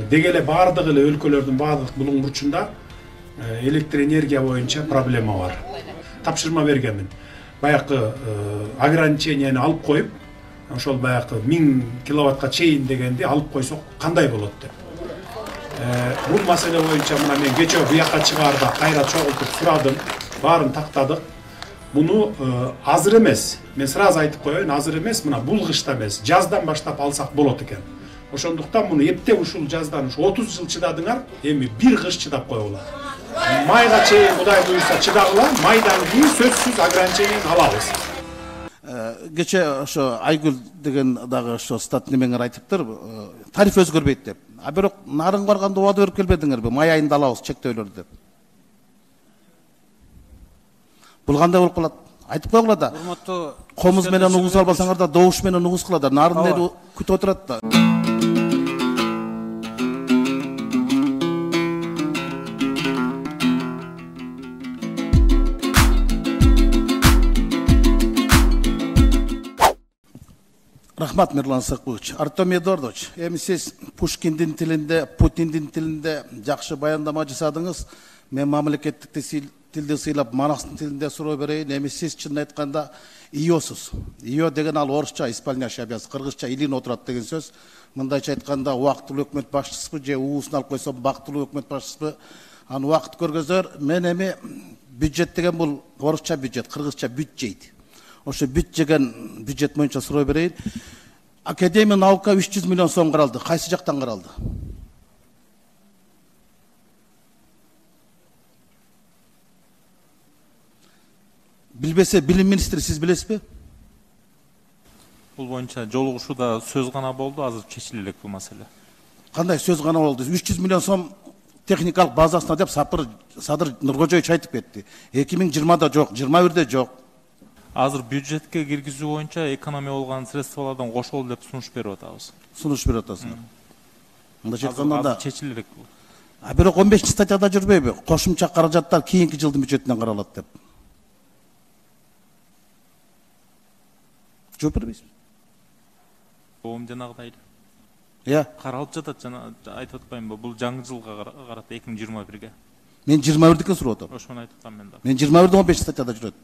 Деги эле баардык эле өлкөлөрдүн баардык булуң бурчунда электр энергия боюнча проблема бар. Тапшырма бергенмин. Баягы ограниченияны алып коюп, ошол баягы 1000 киловаттка чейин дегенди алып койсок кандай болот деп. Бул маселе боюнча мына мен кече буяка чыгаарда кайра чогултуп сурадым, баарын тактадык. Буну азыр эмес. Мен сразу айтып коеюн, азыр эмес, мына бул кышта эмес, жаздан баштап алсак болот экен. Ошондуктан муну эптеп ушул жаздан 30 жыл чыдадыңар, эми бир кыш чыдап коелу. Майга чейин Кудай буйрса чыдагыла, майдан кийин сөзсүз ограничениени алабыз. Кече ошо Айгүл деген дагы ошо стат немеңер айтыптыр, тариф өзгөрбөйт деп. А бирок нарын барганда убада берип келбедиңерби? Май айында алабыз чектөөлөрдү деп. Бул кандай болуп калат? Айтып койгула да. Комуз менен угуз албасаңар да добуш менен угуз кыладыр. Нарын эл күтүп отурат да. Рахмат, Мирлан Сакбович. Артем Эдуардович, эми сиз Пушкиндин тилинде, Путиндин тилинде жакшы баяндама жасадыңыз. Мен мамлекеттик тилди сыйлап, Манастын тилинде суроо берейин. Эми сиз чынын айтканда иосуз. Ио деген ал орусча исполняющий обязанность, кыргызча илин отурат деген сөз. Мындайча айтканда убактылуу өкмөт башчысыбы же уусун алып койсо бактылуу өкмөт башчысыбы. Аны убакыт көргөзөр. Мен эми бюджет деген бул орусча бюджет, кыргызча бюджет. Ошо бүт жеген бюджет боюнча суроо берейин. Академия наука 300 миллион сом каралды. Кайсы жактан каралды? Билбесе билим министри сиз билесизби? Бул боюнча жолугушууда сөз гана болду, азыр чечиле элек бул маселе. Кандай сөз гана болду? 300 миллион сом техникалык базасына деп Садыр Нуркожоевич айтып кетти. 2020да жок, 21де жок. Азыр бюджетке киргизүү боюнча экономия болгон средстволордон кошолду деп сунуш берип атабыз. Сунуш берип атасыңар. Мындайча айтканда чечиле элек бул. А бирок 15-статьяда жүрбөйбү? Кошумча каражаттар кийинки жылдын бюджетинен каралат деп. Жооп бербейсизби? Жанагыдай эле. Каралып жатат, жана айтып атпаймынбы? Бул жаңы жылга карата 2021ге. Мен 21дикин сурап атам. Ошону айтып атам мен да. Мен 21дин 15-статьяда жүрөт.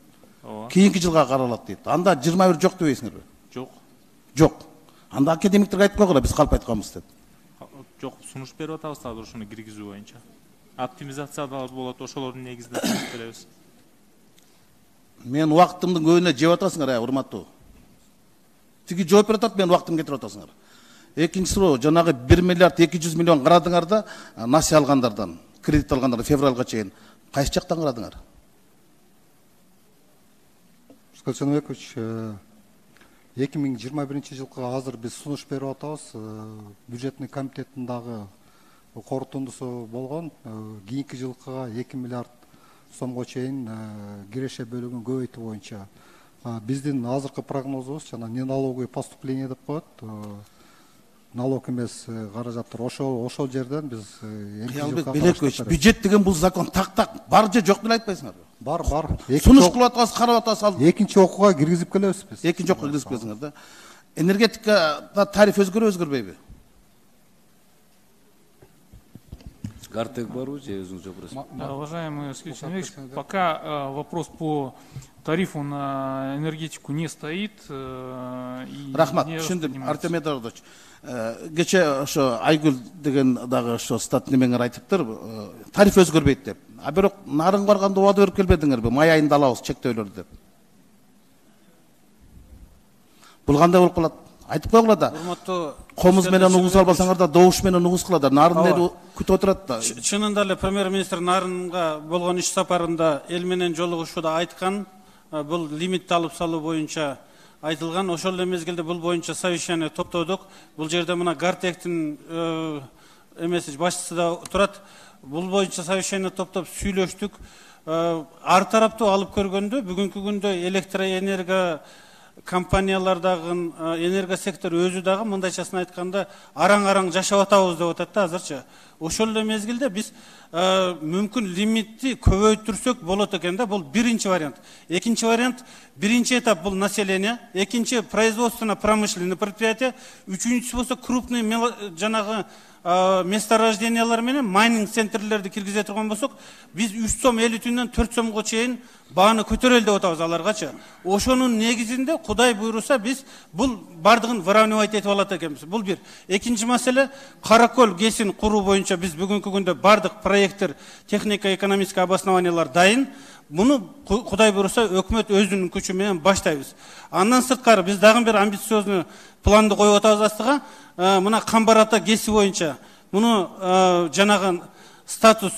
Кийинки жылга каралат дейт. Анда 21 жок дебейсиңерби? Жок. Жок. Анда академиктерге айтып койгула, биз калп айтканбыз деп. Жок, сунуш берип атабыз азыр ошону киргизүү боюнча. Оптимизациялар болот, ошолордун негизинде сунуш беребиз. Мен убактымдын көбүнө жеп атасыңар, урматтуу. Тиги жооп берип атат, мен убактымды кетирип атасыңар. Экинчи суроо, жанагы 1 миллиард 200 миллион карадыңар да, насия алгандардан, кредит алгандардан февралга чейин. Кайсы жактан карадыңар? Скальцановекович, 2021 жылга азыр биз сунуш берип атабыз. Бюджетный комитеттин дагы корутундусу болгон. Кийинки жылга 2 миллиард сомго чейин киреше бөлүгүн көбөйтүү боюнча. Биздин азыркы прогнозубуз жана неналоговый поступление деп коет. Налог эмес каражаттар ошол жерден биз Кыялбек Белекович, бюджет деген бул закон так бар же жок деп айтпайсыңарбы? Бар. Сунуш кылып атасыз, карап атасыз. Экинчи окууга киргизип келебиз биз. Экинчи окууга киргизип келсиңер да. Энергетикада тариф өзгөрбөйбү? Гартек барбы же өзүңүз жок? Уважаемый Сергей Алексеевич, пока вопрос по тарифу на энергетику не стоит. Рахмат, түшүндүм. Артем Эдуардович, кече ошо Айгүл деген дагы ошо стат немеңер айтыптыр, тариф өзгөрбөйт деп. А бирок нарын барганда убада берип келбедиңерби? Май айында алабыз чектөөлөрдү деп. Бул кандай болуп калат? Айтып койгула да. Комуз менен угуз албасаңар да добуш менен угуз кыладыр. Нарын эл күтүп отурат да. Чынында эле премьер-министр Нарынга болгон иш сапарында эл менен жолугушууда айткан, бул лимитти алып салуу боюнча айтылган. Ошол эле мезгилде бул боюнча совещание топтодук. Бул жерде мына Гартектин эмеси башчысы да турат. Бул боюнча совещание топтоп сүйлөштүк. Ар тараптуу алып көргөндө бүгүнкү күндө электроэнергия компаниялардагы энергия сектору өзү дагы мындайчасын айтканда араң жашап атабыз деп атат да азырчы. Ошол эле мезгилде биз мүмкүн лимитти көбөйтүрсөк болот экен да. Бул биринчи вариант. Экинчи вариант, биринчи этап бул население, экинчи производственно-промышленный предприятие, үчүнчүсү болсо крупный жанагы месторождениялар менен майнинг центрлерди киргизе турган болсок, биз 3 сом 50 түйүндөн 4 сомго чейин бааны көтөрөлү деп атабыз аларгачы. Ошонун негизинде Кудай буйруса биз бул бардыгын выравнивать этип алат экенбиз. Бул бир. Экинчи маселе, Каракөл ГЭСин куруу боюнча биз бүгүнкү күндө бардык проекттер, технико-экономический обоснованиялар дайын. Буну Кудай буйруса өкмөт өзүнүн күчү менен баштайбыз. Андан сырткары биз дагы бир амбициозный планды коюп атабыз астыга. Мына Камбар ата ГЭСи боюнча муну жанагы статус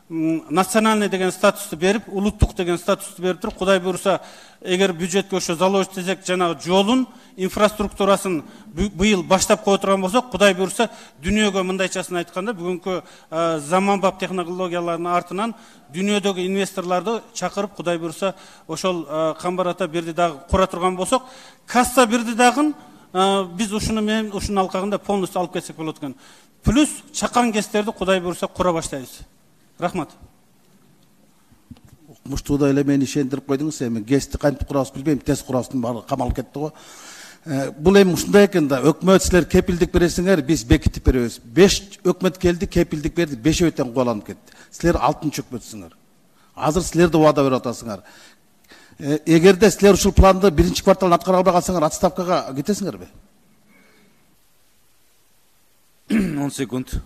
национальный деген статусту берип, улуттук деген статусту берип туруп, Кудай буйруса эгер бюджетке ошо заложить этсек, жанагы жолун, инфраструктурасын быйыл баштап кое турган болсок, Кудай буйруса дүйнөгө мындайчасын айтканда, бүгүнкү заманбап технологиялардын артынан дүйнөдөгү инвесторлорду чакырып, Кудай буйруса ошол Камбар ата бирди дагы кура турган болсок, касса бирди дагы биз ушуну менен ушунун алкагында полностью алып кетсек болот экен. Плюс чакан ГЭСтерди Кудай буйруса кура баштайбыз. Рахмат. Муштууда эле мени ишендирип койдуңуз, эми ГЭСти кантип курабыз билбейм, тез курабыздын баары камалып кетти го. Бул эми ушундай экен да, өкмөт силер кепилдик бересиңер, биз бекитип беребиз. 5 өкмөт келди, кепилдик берди, 5 тең кубаланып кетти. Силер 6-чы өкмөтсүңөр. Азыр силер да убада берип атасыңар. Эгерде силер ушул планды 1-кварталдан аткара албай калсаңар, отставкага кетесиңерби? 10 секунд.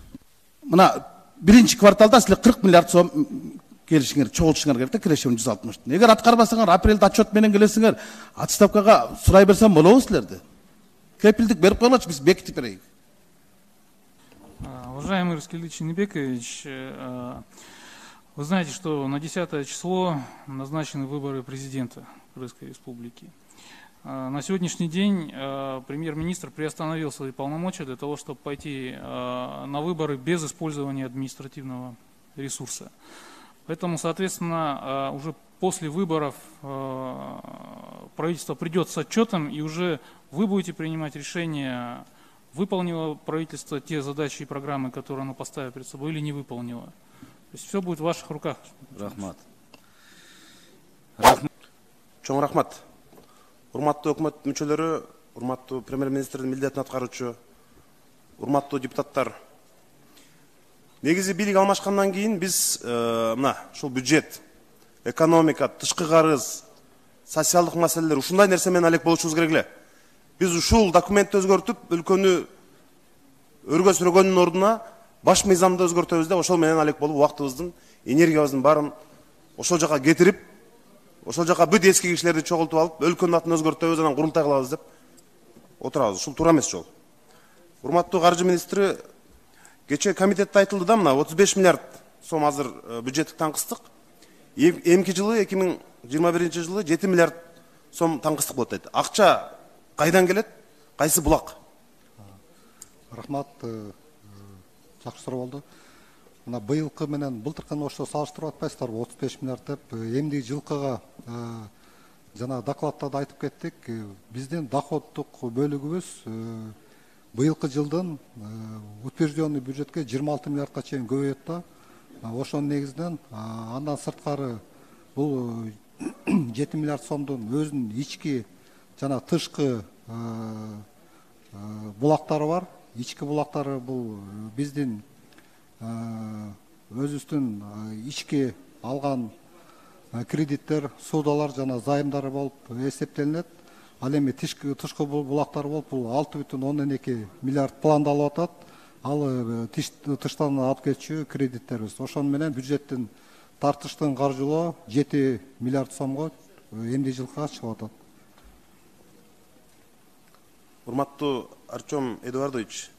Мына 1-кварталда силер 40 миллиард сом келишиңер, чогултушуңар керек да, киреше 160. Эгер аткарбасаңар, апрелде отчет менен келесиңер, отставкага сурай берсем болобу силерди? Кепилдик берип коелочу, биз бекитип берейик. Уважаемый Раскельдович Шенебекович, вы знаете, что на 10 число назначены выборы президента Крымской Республики. На сегодняшний день премьер-министр приостановил свои полномочия для того, чтобы пойти на выборы без использования административного ресурса. Поэтому, соответственно, уже после выборов правительство придет с отчетом, и уже вы будете принимать решение, выполнило правительство те задачи и программы, которые оно поставило перед собой, или не выполнило. То есть все будет в ваших руках. Рахмат. Чоң рахмат. Урматтуу өкмөт мүчөлөрү, урматтуу премьер-министрдин милдетин аткаруучу, урматтуу депутаттар. Негизи бийлик алмашкандан кийин биз мына ушул бюджет, экономика, тышкы карыз, социалдык маселелер ушундай нерсе менен алек болушубуз керек эле. Биз ушул документти өзгөртүп, өлкөнү өргө сүргөндүн ордуна баш мыйзамды өзгөртөбүз да, ошол менен алек болуп убактыбыздын, энергиябыздын баарын ошол жака кетирип, ошол жака бүт эски кишилерди чогултуп алып, өлкөнүн атын өзгөртөбүз, анан курултай кылабыз деп отурабыз. Ушул туура эмес жол. Урматтуу каржы министри, кечээ комитетте айтылды да, мына 35 миллиард сом азыр бюджеттик таңкыстык. Эмки жылы 2021 жылы 7 миллиард сом таңкыстык болот дейт. Акча кайдан келет? Кайсы булак? Рахмат, жакшы суроо болду. Мына быйылкы менен былтыркыны ошо салыштырып атпайсыздарбы? 35 миллиард деп эмдиги жылкыга жана докладта да айтып кеттик. Биздин доходдук бөлүгүбүз быйылкы жылдын утвержденный бюджетке 26 миллиардка чейин көбөйөт да. Ошонун негизинен андан сырткары бул 7 миллиард сомдун өзүнүн ички жана тышкы булактары бар. Ички булактары бул биздин өзүбүздүн ички алган кредиттер, судалар жана займдары болуп эсептелинет. Ал эми тышкы булактар болуп бул 6,2 миллиард пландалып атат. Ал тыштан алып келчү кредиттерибиз. Ошону менен бюджеттин тартыштын каржылоо 7 миллиард сомго эмди жылкыга чыгып атат. Урматтуу Артем Эдуардович,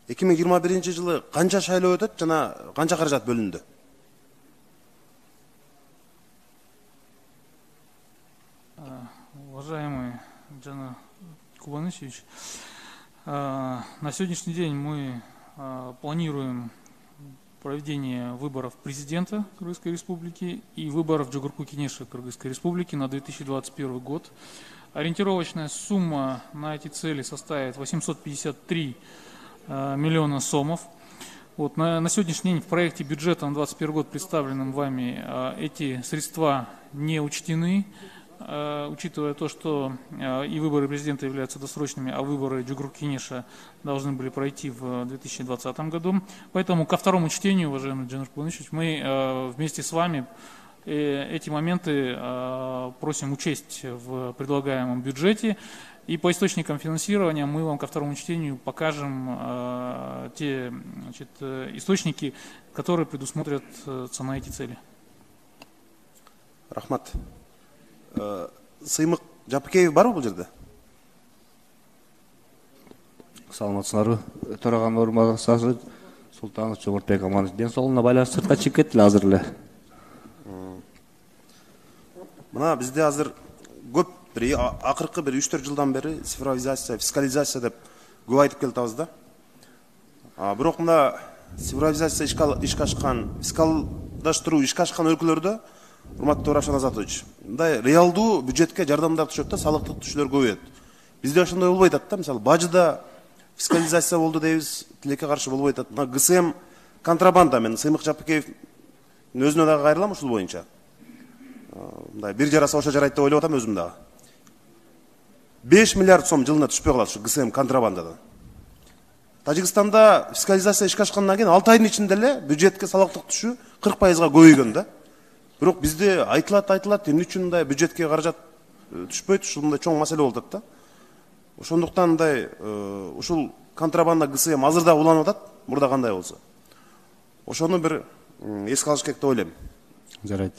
2021 жылы канча шайлоо өтөт жана канча каражат бөлүндү? Уважаемый Джана Кубанычевич, на сегодняшний день мы планируем проведение выборов президента Кыргызской Республики и выборов Джугурку-Кенеша Кыргызской Республики на 2021 год. Ориентировочная сумма на эти цели составит 853 миллиона сомов. Вот, на сегодняшний день в проекте бюджета на 2021 год, представленном вами, эти средства не учтены. учитывая то, что и выборы президента являются досрочными, а выборы Джугрук Кенеша должны были пройти в 2020 году. Поэтому ко второму чтению, уважаемый Джанур Кубанычевич, мы вместе с вами эти моменты просим учесть в предлагаемом бюджете. И по источникам финансирования мы вам ко второму чтению покажем те источники, которые предусмотрятся на эти цели. Рахмат. Сыймык Жапыкеев барбы бул жерде? Саламатсыздарбы? Төраган орунбасары Султанов Жомортбек Аманович ден соолугуна байланыштуу сыртка чыгып кетти азыр эле. Мына бизде азыр көп акыркы 3-4 жылдан бери цифровизация, фискализация деп көп айтып келатабыз да. Бирок мына цифровизация ишке ашкан, фискалдаштыруу ишке ашкан өлкөлөрдө, урматтуу Равшан Азатович, мындай реалдуу бюджетке жардамдар түшөт да, салыктык түшүүлөр көбөйөт. Бизде ошондой болбой атат да, мисалы бажыда фискализация болду дейбиз, тилекке каршы болбой атат. Мына ГСМ контрабанда, мен Сыймык Жапыкеевдин өзүнө дагы кайрылам ушул боюнча. Мындай бир жараса ошо жарайт деп ойлоп атам өзүм дагы. 5 миллиард сом жылына түшпөй калат ушу ГСМ контрабандадан. Тажикстанда фискализация ишке ашкандан кийин 6 айдын ичинде эле бюджетке салыктык түшүү 40%га көбөйгөн да. Бирок бизде айтылат, эмне үчүн мындай бюджетке каражат түшпөйт, ушул мындай чоң маселе болуп атат да. Ошондуктан мындай ушул контрабанда ГСМ азыр да уланып атат, мурда кандай болсо. Ошону бир эске алыш керек деп ойлойм. Жарайт.